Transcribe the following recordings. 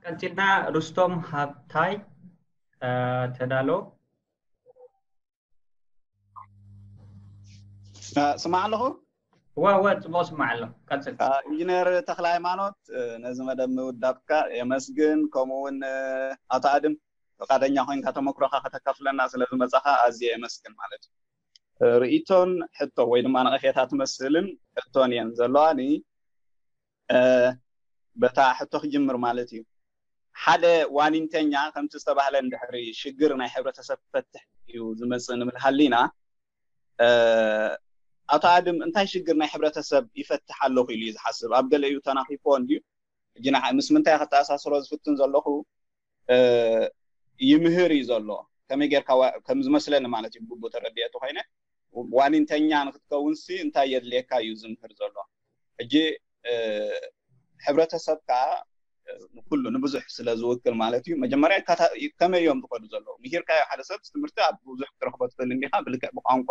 ቀፂልና ሩስቶም ሃብታይ ተዳሎ። ስማዕ ኣለኹ። እወ እወ፣ ፅቡቅ ስማዕ ኣሎ። ቀፅል። ኢንጂነር ተክለ ሃይማኖት፣ ነዚ መደብ ምውዳብካ የመስግን። ከምኡ እውን ኣቶ ኣድም፣ ፈቃደኛ ኮይንካ ተመክሮካ ከተካፍለና ስለ ዝመጻኻ ኣዝየ የመስግን ማለት እዩ። ርእይቶን ሕቶ ወይ ድማ ነቐፌታ ትመስልን ሕቶን እየን ዘለዋኒ። በታ ሕቶ ክጅምር ማለት እዩ። ሓደ ዋኒንተኛ ከምቲ ዝተባህለ እንድሕሪ ሽግር ናይ ሕብረተሰብ ክፈትሕ እዩ ዝመጽእ ንብል ሃሊና፣ ኣቶ ኣድም እንታይ ሽግር ናይ ሕብረተሰብ ይፈትሕ ኣለኹ ኢሉ እዩ ዝሓስብ? ኣብ ገለ እዩ ተናኺፎ እንድዩ። ሕጂ ምስ ምንታይ ከተኣሳስሮ ዝፍትን ዘለኹ፣ ይምህር እዩ ዘሎ። ከመይ ጌርካ ከም ዝመስለኒ ማለት እዩ፣ ብግቡእ ተረዲኤ ተኮይነ፣ ዋኒንተኛ ንክትከውን ሲ እንታይ የድልየካ እዩ ዝምህር ዘሎ። ሕጂ ሕብረተሰብ ከዓ ንኩሉ ንብዙሕ ስለ ዝውክል ማለት እዩ። መጀመርያ ከመይ እዮም ዝኸዱ ዘለዉ? ምሂርካዮ ሓደ ሰብ ትምህርቲ ኣብ ብዙሕ ክትረክቦ ትኽእል እንዲኻ፣ ብልክዕ ብቋንቋ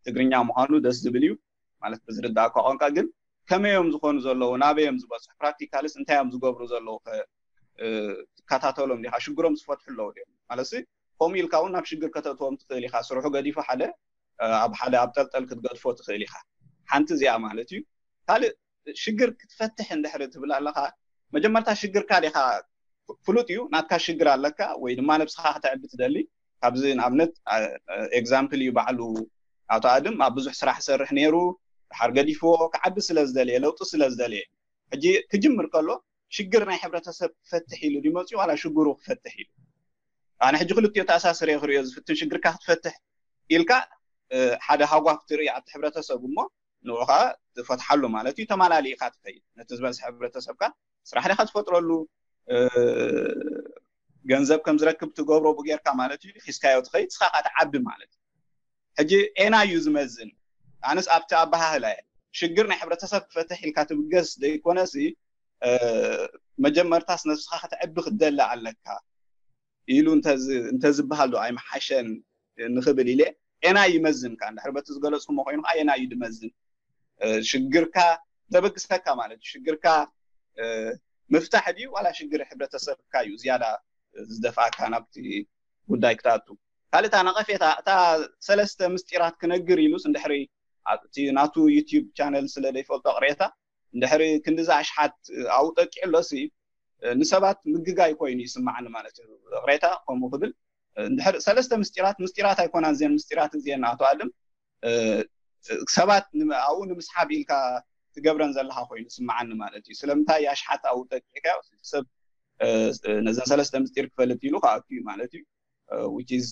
ትግርኛ ምዃኑ ደስ ዝብል እዩ ማለት ብዝርዳእካ ቋንቋ። ግን ከመይ እዮም ዝኾኑ ዘለዉ? ናበይ እዮም ዝበፅሑ? ፕራክቲካልስ እንታይ እዮም ዝገብሩ ዘለዉ? ትከታተሎም ዲኻ? ሽግሮም ዝፈትሑ ኣለዉ ድዮም? ማለት ከምኡ ኢልካ እውን ናብ ሽግር ከተእትዎም ትኽእል ኢኻ። ስርሑ ገዲፉ ሓደ ኣብ ሓደ ኣብ ጠልጠል ክትገድፎ ትኽእል ኢኻ። ሓንቲ እዚኣ ማለት እዩ። ካልእ ሽግር ክትፈትሕ እንድሕሪ ትብል ኣለኻ፣ መጀመርታ ሽግርካ ዲኻ ፍሉጥ እዩ፣ ናትካ ሽግር ኣለካ ወይ ድማ ነብስኻ ከተዕቢ ትደሊ። ካብዚ ንኣብነት ኤግዛምፕል እዩ ባዕሉ ኣቶ ኣድም ኣብ ብዙሕ ስራሕ ይሰርሕ ነይሩ፣ ድሓር ገዲፍዎ ክዓቢ ስለ ዝደለየ፣ ለውጢ ስለ ዝደለየ። ሕጂ ክጅምር ከሎ ሽግር ናይ ሕብረተሰብ ክፈትሕ ኢሉ ድመፅኡ ዋላ ሽግሩ ክፈትሕ ኢሉ? ኣነ ሕጂ ክልቲኦ ተኣሳስረ ክሪኦ ዝፍትን፣ ሽግርካ ክትፈትሕ ኢልካ ሓደ ሃጓፍ ትርኢ ኣብቲ ሕብረተሰብ እሞ ንዑኻ ትፈትሓሉ ማለት እዩ። ተማላሊእካ ትኸይድ ነቲ ዝበዝሐ ሕብረተሰብካ ስራሕ ዲኻ ትፈጥረሉ፣ ገንዘብ ከም ዝረክብ ትገብሮ ብጌርካ ማለት እዩ። ሒዝካዮ ትኸይድ፣ ንስኻ ከዓ ትዓቢ ማለት እዩ። ሕጂ ኤና እዩ ዝመዝን። ኣነስ ኣብቲ ኣበሃህላ እየ ሽግር ናይ ሕብረተሰብ ክፈትሕ ኢልካ ትብገስ ዘይኮነሲ፣ መጀመርታስ ነብስኻ ከተዕቢ ክትደሊ ኣለካ ኢሉ እንተዝበሃል ዶ ኣይመሓሸን ንኽብል ኢለ ኤና ይመዝን። ከ እንድሕር በቲ ዝገለፅኩሞ ኮይኑ ከዓ ኤና እዩ ድመዝን። ሽግርካ ዘበግሰካ ማለት እዩ። ሽግርካ ምፍታሕ ድዩ ዋላ ሽግር ሕብረተሰብካ እዩ ዝያዳ ዝደፍኣካ ናብቲ ጉዳይ ክትኣቱ? ካልእታ ነቐፌታ፣ እታ ሰለስተ ምስጢራት ክነግር ኢሉስ እንድሕሪ ኣብቲ ናቱ ዩቲዩብ ቻነል ስለ ዘይፈልጦ ቅሬታ፣ እንድሕሪ ክንዲዛ ኣሽሓት ኣብኡ ጠቂዑ ኣሎሲ ንሰባት ምግጋይ ኮይኑ ይስማዓኒ ማለት እዩ። ቅሬታ ከምኡ ክብል እንድሕር ሰለስተ ምስጢራት፣ ምስጢራት ኣይኮናን እዚአን፣ ምስጢራት እዚአን ኣቶ ኣድም ሰባት ኣብኡ ንምስሓብ ኢልካ ትገብረን ዘለካ ኮይኑ ይስማዓኒ ማለት እዩ። ስለምንታይ ኣሽሓት ኣብኡ ጠቂዕካ ሰብ ነዘን ሰለስተ ምስጢር ክፈልጥ ኢሉ ክኣቱ እዩ ማለት እዩ። Which is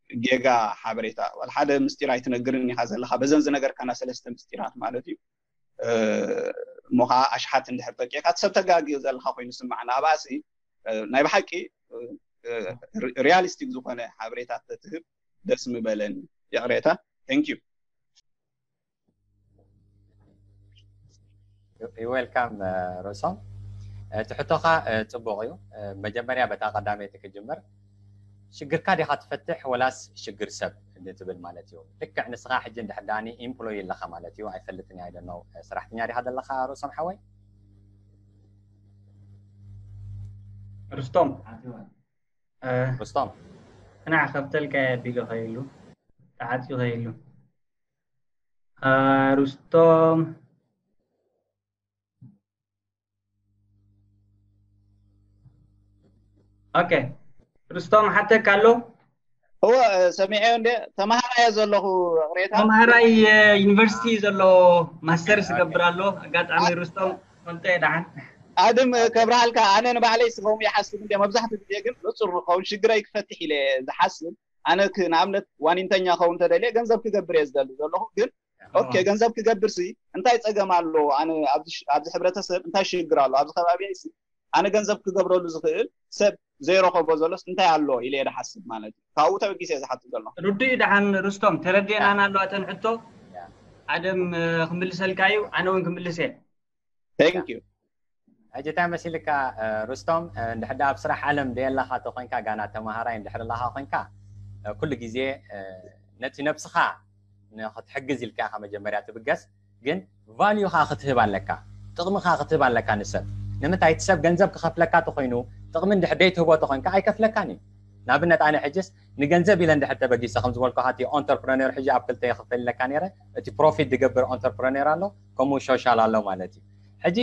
ጌጋ ሓበሬታ። ዋላ ሓደ ምስጢር ኣይትነግርን ኢኻ ዘለካ በዘን ዝነገርካና ሰለስተ ምስጢራት ማለት እዩ። እሞ ከዓ ኣሽሓት እንድሕር ጠቂዕካ እቲ ሰብ ተጋጊ ዘለካ ኮይኑ ስማዕና። ኣብኣሲ ናይ ብሓቂ ሪያሊስቲክ ዝኾነ ሓበሬታ ተትህብ ደስ ምበለኒ። ይቕሬታ። Thank you። Welcome ሮሶም። እቲ ሕቶኻ ፅቡቕ እዩ። መጀመርያ በታ ቀዳመይቲ ክጅምር፣ ሽግርካ ዲኻ ትፈትሕ ወላስ ሽግር ሰብ እንትብል ማለት እዩ። ልክዕ ንስኻ ሕጂ እንድሕር ዳኒ ኢምፕሎይ ኣለኻ ማለት እዩ። ኣይፈልጥን እየ፣ I don't know፣ ሰራሕተኛ ዲኻ ዘለኻ ሮሶም ሓወይ? ርስቶም ርስቶም ቅናዕ ከብተልካ ቢሉ ከይሉ ተዓፅዩ ከይሉ ሩስቶም ኦኬ፣ ሩስቶም ሓተካ ኣሎ። እወ፣ ሰሚዐዮ እንደ ተማሃራይ ዘለኹ ቅሬታ ተማሃራይ ዩኒቨርሲቲ ዘሎ ማስተርስ ገብር ኣሎ። ኣጋጣሚ ሩስቶም ፈልጠ ደሓን ኣድም ከብርሃልካ፣ ኣነ ንባዕለይ ስኸም ይሓስብ እንደ መብዛሕትኡ ግዜ ግን ንፁር ንኸውን ሽግረይ ክፈትሕ ኢለ ዝሓስብ። ኣነ ንኣብነት ዋኒንተኛ ኸውን ተደልየ ገንዘብ ክገብር እየ ዝደሊ ዘለኹ። ግን ኦኬ፣ ገንዘብ ክገብር ሲ እንታይ ፀገም ኣሎ? ኣነ ኣብዚ ሕብረተሰብ እንታይ ሽግር ኣሎ? ኣብዚ ከባቢ ሲ ኣነ ገንዘብ ክገብረሉ ዝኽእል ሰብ ዘይረኸቦ ዘሎስ እንታይ ኣሎ ኢለ እየ ዝሓስብ ማለት እዩ። ካብኡ ተበጊሰ እየ ዝሓትት ዘለኹ። ርዱእ እዩ። ደሓን ሩስቶም ተረዲኤናና ኣሎ። ኣተን ሕቶ ኣደም ክምልሰልካ እዩ፣ ኣነ እውን ክምልስ እየ። Thank you። ሕጂ እንታይ መሲልካ ሩስቶም፣ እንድሕር ኣብ ስራሕ ዓለም ደየላኻ ተኮይንካ፣ ጋና ተማሃራይ እንድሕር ኣለኻ ኮንካ፣ ኩሉ ግዜ ነቲ ነብስኻ ንክትሕግዝ ኢልካ ኢኻ መጀመርያ ትብገስ። ግን ቫልዩ ኸዓ ክትህብ ኣለካ፣ ጥቕሚ ኸዓ ክትህብ ኣለካ ንሰብ። ንምንታይ እቲ ሰብ ገንዘብ ክኸፍለካ ተኾይኑ ጥቕሚ እንድሕር ደይትህቦ ተኾይንካ ኣይከፍለካን እዩ። ንኣብነት ኣነ ሕጅስ ንገንዘብ ኢለ እንድሕር ተበጊሰ ከም ዝበልኩኻ እቲ ኦንተርፕረነር ሕጂ ኣብ ክልተ ይኽፈል ኢለካ ነይረ። እቲ ፕሮፊት ዝገብር ኦንተርፕረነር ኣሎ፣ ከምኡ ሶሻል ኣሎ ማለት እዩ። ሕጂ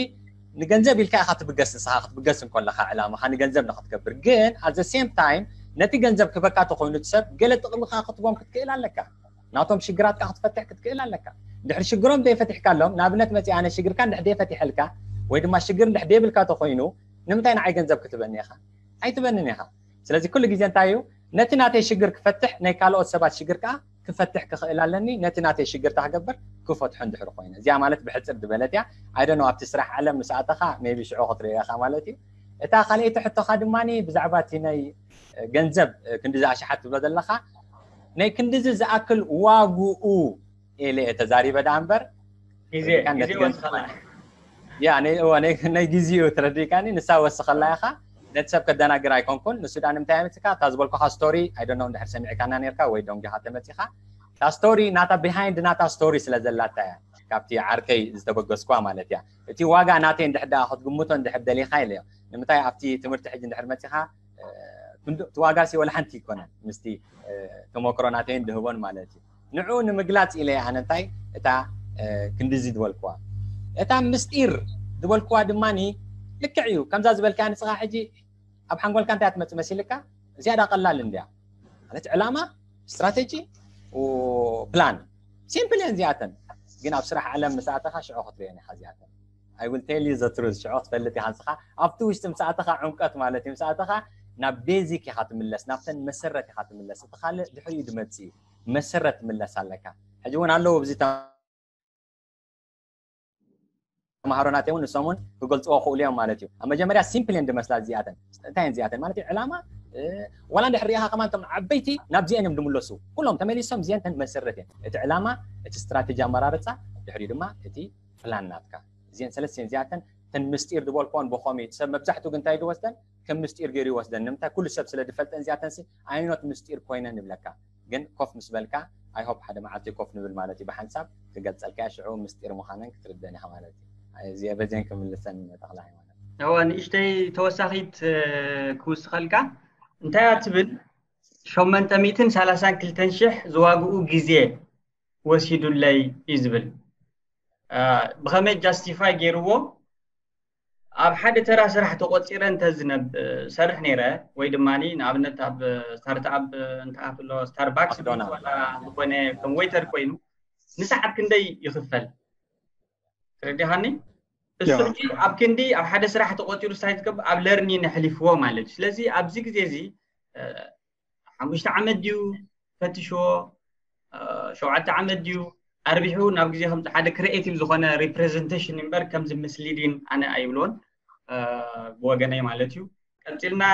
ንገንዘብ ኢልካ ኢኻ ትብገስ፣ ንስኻ ክትብገስ እንከለኻ ዕላማኻ ንገንዘብ ንክትገብር፣ ግን at the same time ነቲ ገንዘብ ክበካ ተኾይኑ እቲ ሰብ ገለ ጥቕሚ ከዓ ክትቦም ክትክእል ኣለካ። ናቶም ሽግራትካ ክትፈትሕ ክትክእል ኣለካ። ድሕሪ ሽግሮም ዘይፈቲሕካሎም፣ ንኣብነት መፂ ኣነ ሽግርካ እንድሕር ደይፈቲሐልካ ወይ ድማ ሽግር እንድሕር ደይብልካ ተኾይኑ ንምንታይ ንዓይ ገንዘብ ክትበኒ ኢኻ? ኣይትበንን ኢኻ። ስለዚ ኩሉ ግዜ እንታይ እዩ፣ ነቲ ናተይ ሽግር ክፈትሕ ናይ ካልኦት ሰባት ሽግር ከዓ ክፈትሕ ክኽእል ኣለኒ። ነቲ ናተይ ሽግር ክገብር ክፈትሖ እንድሕር ኮይነ፣ እዚኣ ማለት ብሕፅር ዝበለት እያ። ኣይደኖ ኣብቲ ስራሕ ዓለም ምስ ኣተኻ ሜቢ ሽዑ ክትሪኦ ኢኻ ማለት እዩ። እታ ካልኣይቲ ሕቶኻ ድማ ብዛዕባ እቲ ናይ ገንዘብ ክንዲዚ ኣሽሓት ትብሎ ዘለኻ፣ ናይ ክንዲዚ ዝኣክል ዋግኡ ኢለ እየ ተዛሪበ ደኣ እምበር ግዜ ሪካን ግዜ ነቲ ገንዘብ ወስኸላ ያ ናይ እዋ ናይ ናይ ግዜኡ ተረዲእካኒ። ንሳ ወስኸላ ኢኻ፣ ነቲ ሰብ ከደናግር ኣይኮንኩን። ንሱ ደኣ ንምንታይ ኣመፅካ? እታ ዝበልኩኻ ስቶሪ ኣይደኖ እንድሕር ሰሚዕካና ነርካ ወይ ደንጊኻ ተመፂኻ። እታ ስቶሪ ናታ ቢሃይንድ ናታ ስቶሪ ስለ ዘላታ እያ ካብቲ ዓርከይ ዝተበገስኳ ማለት እያ። እቲ ዋጋ ናተይ እንድሕር ደኣ ክትግምቶ እንድሕር ደሊኻ ኢለዮ። ንምንታይ ኣብቲ ትምህርቲ ሕጂ እንድሕር መፂኻ እቲ ዋጋ ሲ ወላ ሓንቲ ይኮነን ምስቲ ተሞክሮ ናተይን ድህቦን ማለት እዩ። ንዑ ንምግላፅ ኢለ ኣነ እንታይ እታ ክንዲዚ ዝበልክዋ እታ ምስጢር ዝበልክዋ ድማ ልክዕ እዩ። ከምዛ ዝበልካ ንስኻ ሕጂ ኣብ ሓንጎልካ እንታይ ትመፅእ መሲልካ? እዚኣ ዳ ቀላል እንድያ ማለት ዕላማ፣ ስትራቴጂ፣ ፕላን ሲምፕል እየን እዚኣተን። ግን ኣብ ስራሕ ዓለም ምስ ኣተኻ ሽዑ ክትሪኦን ኢኻ እዚኣተን። I will tell you the truth። ሽዑ ክትፈልጥ ኢኻ ንስኻ ኣብቲ ውሽጢ ምስ ኣተኻ ዕምቀት ማለት እዩ። ምስ ኣተኻ ናብ ቤዚክ ኢኻ ትምለስ፣ ናብተን መሰረት ኢኻ ትምለስ። እቲ ካልእ ድሕሪኡ ድመጽእ እዩ። መሰረት ትምለስ ኣለካ። ሕጂ እውን ኣለዉ ኣብዚ ተምሃሮ ናተይ እውን ንሶም እውን ክገልፅዎ ክእሉ እዮም ማለት እዩ። ኣብ መጀመርያ ሲምፕል እየን ድመስላ እዚኣተን። እንታይ እየን እዚኣተን ማለት እዩ? ዕላማ ዋላ እንድሕር ሪኢኻ ከማን እቶም ዓበይቲ ናብዚአን እዮም ድምለሱ። ኩሎም ተመሊሶም እዚአን ተን መሰረት እየን። እቲ ዕላማ፣ እቲ ስትራቴጂ ኣመራርፃ፣ ድሕሪኡ ድማ እቲ ፕላን ናትካ። እዚአን ሰለስቲአን እዚኣተን ተን ምስጢር ዝበልክዎን ብኸመይ እቲ ሰብ መብዛሕትኡ ግን እንታይ ድወስደን ከም ምስጢር ገይሩ ይወስደን። ንምንታይ ኩሉ ሰብ ስለ ድፈልጠን እዚኣተንሲ ኣይኖት ምስጢር ኮይነን ንብለካ። ግን ኮፍ ምስ በልካ I hope ሓደ መዓልቲ ኮፍ ንብል ማለት እዩ። ብሓንሳብ ክገልፀልካ እያ፣ ሽዑ ምስጢር ምዃነን ክትርደን ኢኻ ማለት እዩ። እዚ በዚአን ክምልሰን ተኽለ ሃይማኖት። እወ ንእሽተይ ተወሳኺት ክውስኸልካ እንታይ እያ ትብል ሸሞንተ ሚእትን ሰላሳን ክልተን ሽሕ ዝዋግኡ ግዜ ወሲዱለይ እዩ ዝብል ብኸመይ ጃስቲፋይ ገይርዎ ኣብ ሓደ ተራ ስራሕ ተቆፂረ እንተ ዝነብ ሰርሕ ነይረ ወይ ድማ ንኣብነት ኣብ ስታርትኣፕ እንተኣፍሎ ስታርባክስ ዝኾነ ከም ዌይተር ኮይኑ ንሰዓት ክንደይ ይኽፈል? ተረዲኻኒ? እሱ ሕጂ ኣብ ክንዲ ኣብ ሓደ ስራሕ ተቆፂሩ ስታይ ትገብር ኣብ ለርኒን ኣሕሊፍዎ ማለት እዩ። ስለዚ ኣብዚ ግዜ እዚ ሓሙሽተ ዓመት ድዩ ፈትሽዎ ሸውዓተ ዓመት ድዩ ኣርቢሑ ናብ ግዜ ከም ሓደ ክሪኤቲቭ ዝኾነ ሪፕሬዘንቴሽን እምበር ከምዚ ምስሊዲን ኣነ ኣይብሎን ብወገነይ ማለት እዩ። ቀፂልና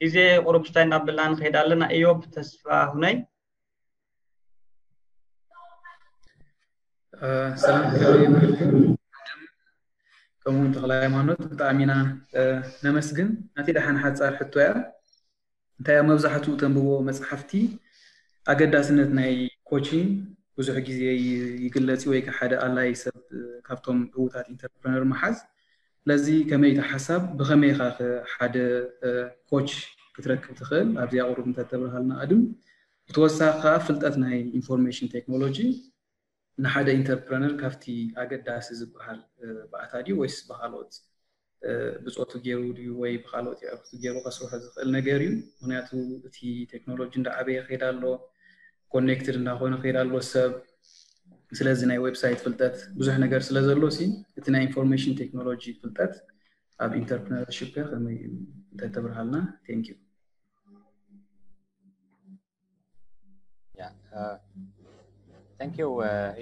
ግዜ ቁሩብ ስታይ እናብልና ንኸይድ ኣለና። እዮብ ተስፋ ሁነይ ሰላም ከምኡውን ተኽለ ሃይማኖት ብጣዕሚ ኢና ነመስግን። ናቲ ደሓን ሓፃር ሕቶ እያ። እንታይ ኣብ መብዛሕትኡ ተንብቦ መፅሓፍቲ ኣገዳስነት ናይ ኮቺንግ ብዙሕ ግዜ ይግለፅ ወይ ሓደ ኣላይ ሰብ ካብቶም ዕዉታት ኢንተርፕረነር ምሓዝ። ስለዚ ከመይ እቲ ሓሳብ ብኸመይ ኢኻ ሓደ ኮች ክትረክብ ትኽእል ኣብዚኣ ቁሩብ እንተተብርሃልና ኣድም። ብተወሳኺ ከዓ ፍልጠት ናይ ኢንፎርሜሽን ቴክኖሎጂ ንሓደ ኢንተርፕረነር ካብቲ ኣገዳሲ ዝበሃል ባእታ ድዩ ወይስ ብካልኦት ብፆቱ ገይሩ ድዩ ወይ ብካልኦት የዕሩኽቱ ገይሩ ከስርሖ ዝኽእል ነገር እዩ። ምክንያቱ እቲ ቴክኖሎጂ እንዳዓበየ ከይዳ ኣሎ፣ ኮኔክትድ እንዳኾነ ከይዳ ኣሎ ሰብ። ስለዚ ናይ ዌብሳይት ፍልጠት ብዙሕ ነገር ስለ ዘሎ ሲ እቲ ናይ ኢንፎርሜሽን ቴክኖሎጂ ፍልጠት ኣብ ኢንተርፕረነርሺፕ ከ ከመይ እዩ እንተተብርሃልና? Thank you። Thank you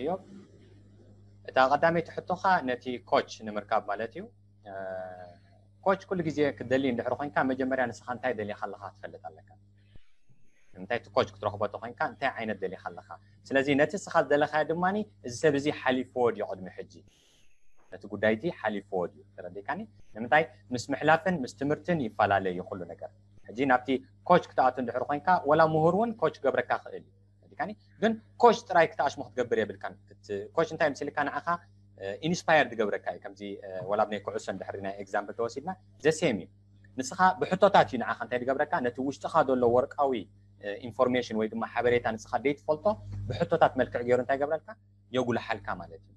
እዮብ። እታ ቀዳመይቲ ሕቶኻ ነቲ ኮች ንምርካብ ማለት እዩ። ኮች ኩሉ ግዜ ክትደሊ እንድሕር ኮይንካ መጀመርያ ንስኻ እንታይ ደሊኻ ኣለኻ ክትፈልጥ ኣለካ። ንምንታይ እቲ ኮች ክትረኽቦ ተኮይንካ እንታይ ዓይነት ደሊኻ ኣለኻ። ስለዚ ነቲ ንስኻ ዝደለኻዮ ድማ እዚ ሰብ እዚ ሓሊፍዎ ድዩ ቅድሚ ሕጂ ነቲ ጉዳይ እቲ ሓሊፍዎ ድዩ? ተረዲእካኒ? ንምንታይ ምስ ምሕላፍን ምስ ትምህርትን ይፈላለ እዩ ኩሉ ነገር። ሕጂ ናብቲ ኮች ክትኣቱ እንድሕር ኮይንካ ዋላ ምሁር እውን ኮች ክገብረካ ክእል እዩ። ተረዲእካኒ? ግን ኮች ጥራይ ክትኣሽሞ ክትገብር የብልካን። ኮች እንታይ ምስ ኢልካ ንዓኻ ኢንስፓየር ዝገብረካ እዩ። ከምዚ ወላ ናይ ኩዕሶ እንድሕሪ ናይ ኤግዛምፕል ተወሲድና ዘሴም እዩ። ንስኻ ብሕቶታት እዩ ንዓኻ እንታይ ዝገብረካ፣ ነቲ ውሽጥኻ ዘሎ ወርቃዊ ኢንፎርሜሽን ወይ ድማ ሓበሬታ ንስኻ ዘይትፈልጦ ብሕቶታት መልክዕ ገይሩ እንታይ ገብረልካ፣ የጉልሓልካ ማለት እዩ።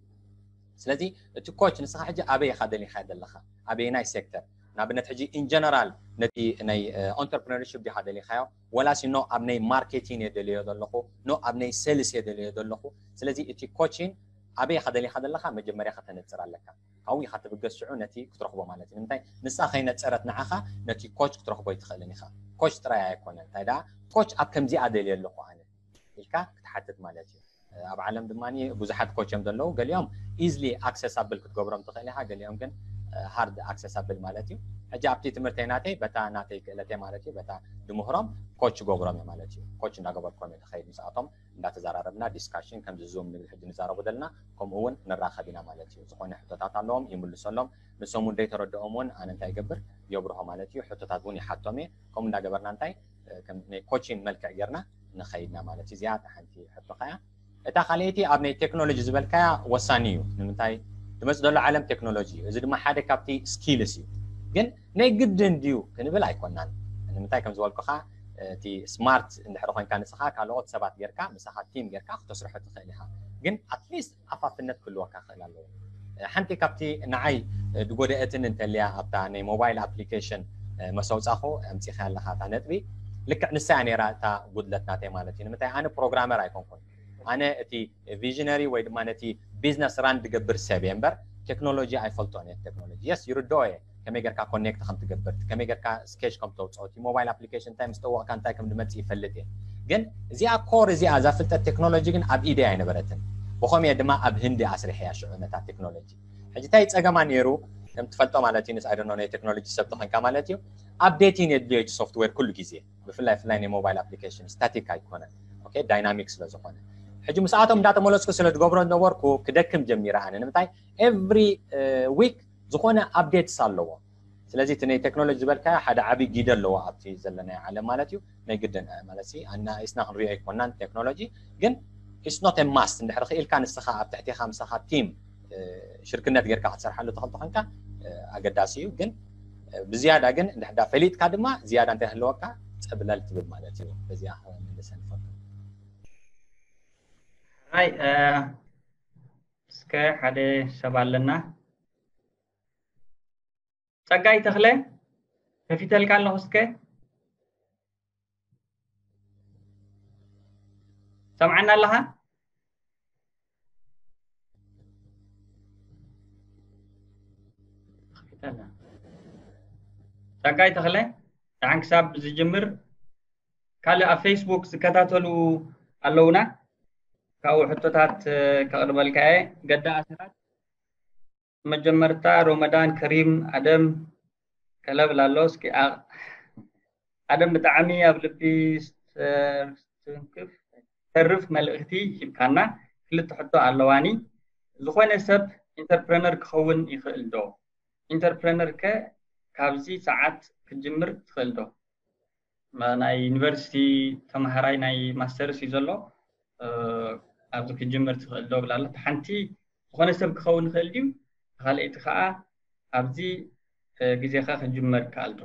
ስለዚ እቲ ኮች ንስኻ ሕጂ ኣበይ ኢኻ ደሊኻ ዘለኻ፣ ኣበየናይ ሴክተር፣ ንኣብነት ሕጂ ኢንጀነራል ነቲ ናይ ኦንተርፕረነርሽፕ ዲኻ ደሊኻዮ፣ ወላሲ ኖ ኣብ ናይ ማርኬቲንግ እየ ደልዮ ዘለኹ፣ ኖ ኣብ ናይ ሴልስ እየ ደልዮ ዘለኹ። ስለዚ እቲ ኮቺን ኣበይ ኢኻ ደሊኻ ዘለኻ መጀመርያ ከተነፅር ኣለካ። ካብኡ ኢኻ ትብገስ ሽዑ ነቲ ክትረኽቦ ማለት እዩ። ንምንታይ ንሳ ከይነፀረት ንዓኻ ነቲ ኮች ክትረኽቦ ኣይትኽእልን ኢኻ። ኮች ጥራይ ኣይኮነን፣ እንታይ ደኣ ኮች ኣብ ከምዚኣ ደልየ ኣለኹ ኣነ ኢልካ ክትሓትት ማለት እዩ። ኣብ ዓለም ድማ ብዙሓት ኮች እዮም ዘለዉ። ገሊኦም ኢዝሊ ኣክሰሳብል ክትገብሮም ትኽእል ኢኻ፣ ገሊኦም ግን ሃርድ ኣክሰሳብል ማለት እዩ። ሕጂ ኣብቲ ትምህርተይ ናተይ በታ ናተይ ክእለተይ ማለት እዩ፣ በታ ድምህሮም ኮች ገብሮም እየ ማለት እዩ። ኮች እንዳገበርኮም እየ ዝኸይድ ምስኣቶም፣ እንዳተዘራረብና ዲስካሽን ከምዚ ዙም ንብል ሕጂ ንዛረቡ ዘለና ከምኡ እውን ንራኸብ ኢና ማለት እዩ። ዝኾነ ሕቶታት ኣለዎም ይምልሰሎም፣ ንሶም እውን ዘይተረድኦም እውን ኣነ እንታይ ይገብር የብርሆ ማለት እዩ። ሕቶታት እውን ይሓቶም እየ። ከምኡ እንዳገበርና እንታይ ከም ናይ ኮቺን መልክዕ ጌርና ንኸይድና ማለት እዩ። እዚኣ ሓንቲ ሕቶኻ እያ። እታ ካልኣይቲ ኣብ ናይ ቴክኖሎጂ ዝበልካያ ወሳኒ እዩ። ንምንታይ ድመፅ ዘሎ ዓለም ቴክኖሎጂ እዩ። እዚ ድማ ሓደ ካብቲ ስኪልስ እዩ። ግን ናይ ግድን ድዩ ክንብል ኣይኮናን። ንምንታይ ከም ዝበልኩኻ እቲ ስማርት እንድሕር ኮይንካ ንስኻ ካልኦት ሰባት ጌርካ ምሳኻ ቲም ጌርካ ክተስርሖ ትኽእል ኢኻ። ግን ኣትሊስት ኣፋፍነት ክህልወካ ክእል ኣለዎ። ሓንቲ ካብቲ ንዓይ ዝጎደአትን እንተልያ ኣብታ ናይ ሞባይል ኣፕሊኬሽን መሰውፃኹ ኣምፂኻ ኣለኻ እታ ነጥቢ ልክዕ ንሳ እያ ነይራ እታ ጉድለት ናተይ ማለት እዩ። ንምንታይ ኣነ ፕሮግራመር ኣይኮንኩን። ኣነ እቲ ቪዥነሪ ወይ ድማ ነቲ ቢዝነስ ራን ዝገብር ሰብ እየ እምበር ቴክኖሎጂ ኣይፈልጦን እየ። ቴክኖሎጂ የስ ይርድኦ እየ፣ ከመይ ጌርካ ኮኔክት ከም ትገብር፣ ከመይ ጌርካ ስኬች ከም ተውፅኦ፣ እቲ ሞባይል ኣፕሊኬሽን እንታይ ምስ ጠወቕካ እንታይ ከም ዝመፅእ ይፈልጥ እየ። ግን እዚኣ ኮር እዚኣ እዛ ፍልጠት ቴክኖሎጂ ግን ኣብ ኢደይ ኣይነበረትን። ብኸምኡ እየ ድማ ኣብ ህንዲ ኣስሪሐያ ሽዑ ነታ ቴክኖሎጂ። ሕጂ እንታይ ፀገማ ነይሩ ከም ትፈልጦ ማለት እዩ። ንስ ኣይደኖ ናይ ቴክኖሎጂ ሰብ ተኾንካ ማለት እዩ። ኣፕዴቲን የድልዮ እቲ ሶፍትዌር ኩሉ ግዜ፣ ብፍላይ ፍላይ ናይ ሞባይል ኣፕሊኬሽን ስታቲክ ኣይኮነን፣ ኦኬ ዳይናሚክ ስለ ዝኾነ። ሕጂ ምስኣቶም እንዳተመለስኩ ስለ ዝገብሮ ዝነበርኩ ክደክም ጀሚረ ኣነ። ንምንታይ ኤቭሪ ዊክ ዝኾነ ኣፕዴትስ ኣለዎ። ስለዚ እቲ ናይ ቴክኖሎጂ ዝበልካዮ ሓደ ዓብዪ ግደ ኣለዎ ኣብቲ ዘለናዮ ዓለም ማለት እዩ። ናይ ግድን ማለት ሲ ኣና ኢስና ክንሪኦ ኣይኮናን ቴክኖሎጂ፣ ግን ኢስ ኖት ማስት። እንድሕር ክኢልካ ንስኻ ኣብ ትሕቴኻ ምሳኻ ቲም ሽርክነት ጌርካ ክትሰርሓሉ ተኽእል ተኾንካ ኣገዳሲ እዩ። ግን ብዝያዳ ግን እንድሕዳ ፈሊጥካ ድማ ዝያዳ እንታይ ህልወካ ፀብለል ትብል ማለት እዩ። በዚኣ ክመልሰ ንፈቱ። ራይ እስከ ሓደ ሰብ ኣለና። ጸጋይ ተኽለ ከፊተልካ ኣለኹ። እስከ ሰምዓና ኣለኻ? ጸጋይ ተኽለ ደሓን ክሳብ ዝጅምር ካልእ ኣብ ፌስቡክ ዝከታተሉ ኣለውና። ካብኡ ሕቶታት ከቕርበልካ እየ። ገዳ ኣስራት መጀመርታ ሮመዳን ከሪም ኣደም ከለብል ኣሎ። እስኪ ኣደም ብጣዕሚ ኣብ ልቢ ዝተርፍ መልእኽቲ ሂብካና። ክልተ ሕቶ ኣለዋኒ። ዝኾነ ሰብ ኢንተርፕረነር ክኸውን ይኽእል ዶ? ኢንተርፕረነር ከ ካብዚ ሰዓት ክትጅምር ትኽእል ዶ? ናይ ዩኒቨርሲቲ ተምሃራይ ናይ ማስተርስ እዩ ዘሎ። ኣብዚ ክጅምር ትኽእል ዶ ብላ ኣሎ። ሓንቲ ዝኾነ ሰብ ክኸውን ይኽእል ድዩ? ካልኣይቲ ከዓ ኣብዚ ግዜኻ ክጅመር ይከኣል ዶ?